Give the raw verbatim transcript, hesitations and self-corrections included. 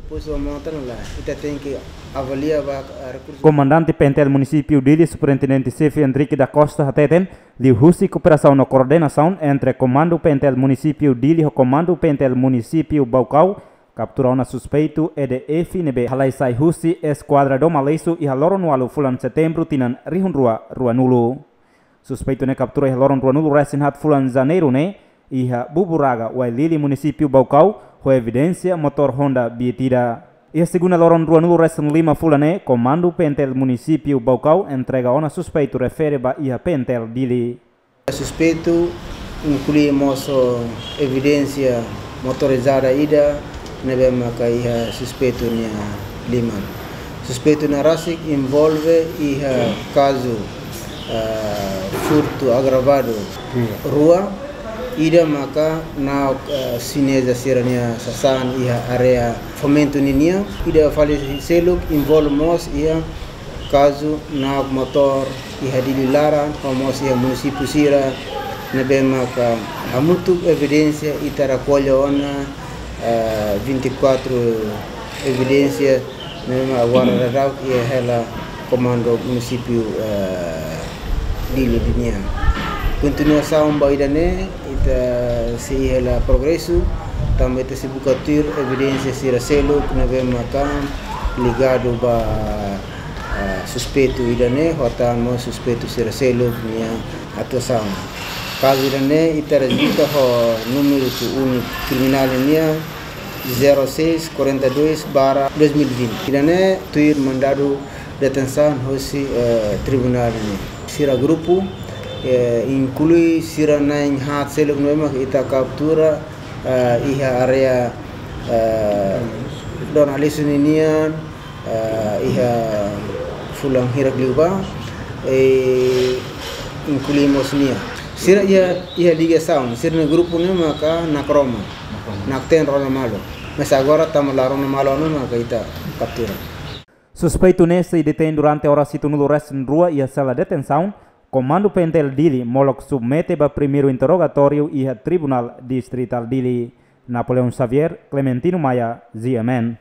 Depois ba mota ne'e lae, ita tenke avalia ba, ah, rekursu. Komandante P N T L Munisípiu Dili, Superintendente Xefe Henrique da Costa hateten, liuhusi kooperasaun no koordenasaun entre Komandu P N T L Munisípiu Dili ho Komandu P N T L Munisípiu Baucau, kaptura ona suspeitu E D F ne'ebé halai sai husi eskuadra Dom Aleixo iha loron ualu fulan Setembru tinan rihun rua ruanulu. Suspeitu ne'e kaptura iha loron ruanulu resin haat fulan Janeiru ne'e iha Buburaga, Uailili, Munisípiu Baucau, ho evidénsia motór Honda Beat ida. Iha segunda loron ruanulu resin lima fulan ne'e, Komandu P N T L Munisípiu Baucau entrega ona suspeitu refere ba iha P N T L Dili. Suspeitu inklui mós evidénsia motorizada ida ne'ebé maka iha suspeitu nia liman. Suspeitu ne'e rasik envolve iha kazu, ah, furtu agravadu rua, ida maka na'ok, ah, xineza sira-nia sasán iha área Fomento ninian, ida fali seluk envolve mós iha kazu na'ok motór iha Dili laran, ho mós iha munisípiu sira ne'ebé maka hamutuk evidénsia ita rekolla ona, eh, vinte e quatro evidénsia ne'ebé mak agora daudaun iha hela Komandu Munisípiu, eh, Dili nian. Kontinuasaun ba ida-ne'e, ita sei iha hela progresu, tanba ita sei buka tuir evidénsia sira seluk ne'ebé maka ligadu ba, ah, suspeitu ida-ne'e, ho tan mós suspeitu sira seluk nia atuasaun. Kazu ida-ne'e ita rejista ho númeru ku unit kriminál nian zero seis quarenta e dois barra dois mil e vinte. Ida-ne'e tuir mandadu detensaun hosi, eh, tribunál nian. Sira grupu, eh, inklui sira na'in haat seluk ne'ebé mak ita kaptura, eh, iha área, eh, Dom Aleixo ninian, eh, iha fulan hirak liubá, eh, inklui mós nia. Sira iha, iha ligasaun, sira-nia grupu ne'e maka nakroman, nakroman, nakten rona malu. Mas agora tanba la rona malu ona maka ita kaptura. Suspeitu ne'e sei detein durante oras hitunulu resin rua iha sela detensaun Komandu P N T L Dili, molok submete ba primeiru interrogatóriu iha Tribunál Distritál Dili. Napoleão Xavier, Clementino Maia, G M N.